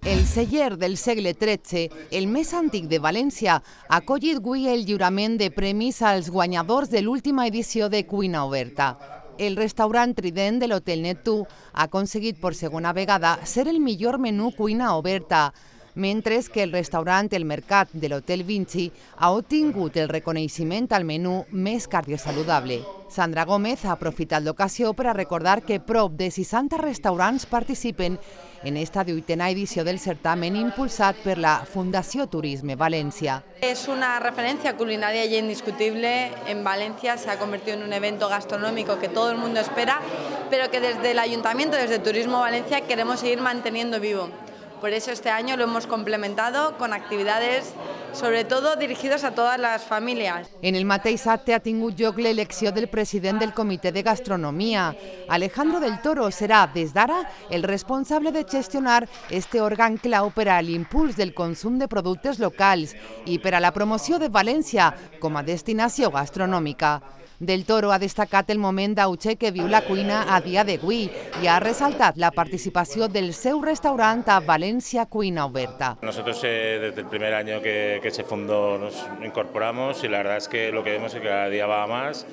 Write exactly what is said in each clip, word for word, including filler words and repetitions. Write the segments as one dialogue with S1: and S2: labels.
S1: El celler del segle tretze, el més antic de València, ha acollit avui el lliurament de premis als guanyadors de l'última edició de Cuina Oberta. El restaurant Trident de l'Hotel Neptú ha aconseguit per segona vegada ser el millor menú cuina oberta, mentre que el restaurant El Mercat de l'Hotel Vinci ha obtingut el reconeixement al menú més cardiosaludable. Sandra Gómez ha aprofitat l'ocasió per a recordar que prop de seixanta restaurants participen en esta vuitena edició del certamen impulsat per la Fundació Turisme Valencia.
S2: Es una referencia culinaria ya indiscutible. En Valencia se ha convertido en un evento gastronómico que todo el mundo espera, pero que desde el Ayuntamiento, desde Turismo Valencia, queremos seguir manteniendo vivo. Por eso este año lo hemos complementado con actividades, sobre todo dirigidas a todas las familias.
S1: En el mateix acte ha tingut lloc l'elecció del president del Comitè de Gastronomia. Alejandro del Toro serà, des d'ara, el responsable de gestionar este òrgan clau per a l'impuls del consum de productes locals i per a la promoció de València com a destinació gastronòmica. Del Toro ha destacat el moment d'auge que viu la cuina a dia d'avui i ha resaltat la participació del seu restaurant a Valencia Cuina Oberta.
S3: Nosotros eh, desde el primer año que, que se fundó nos incorporamos y la verdad es que lo que vemos es que cada día va a más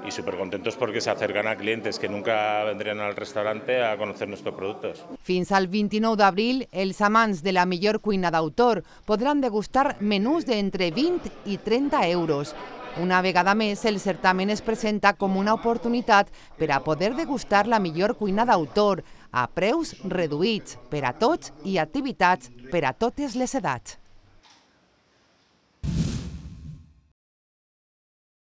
S3: y súper contentos porque se acercan a clientes que nunca vendrían al restaurante a conocer nuestros productos.
S1: Fins al vint-i-nou d'abril, els amants de la millor cuina d'autor podran degustar menús d'entre vint i trenta euros. Una vegada més, el certamen es presenta com una oportunitat per a poder degustar la millor cuina d'autor a preus reduïts per a tots i activitats per a totes les edats.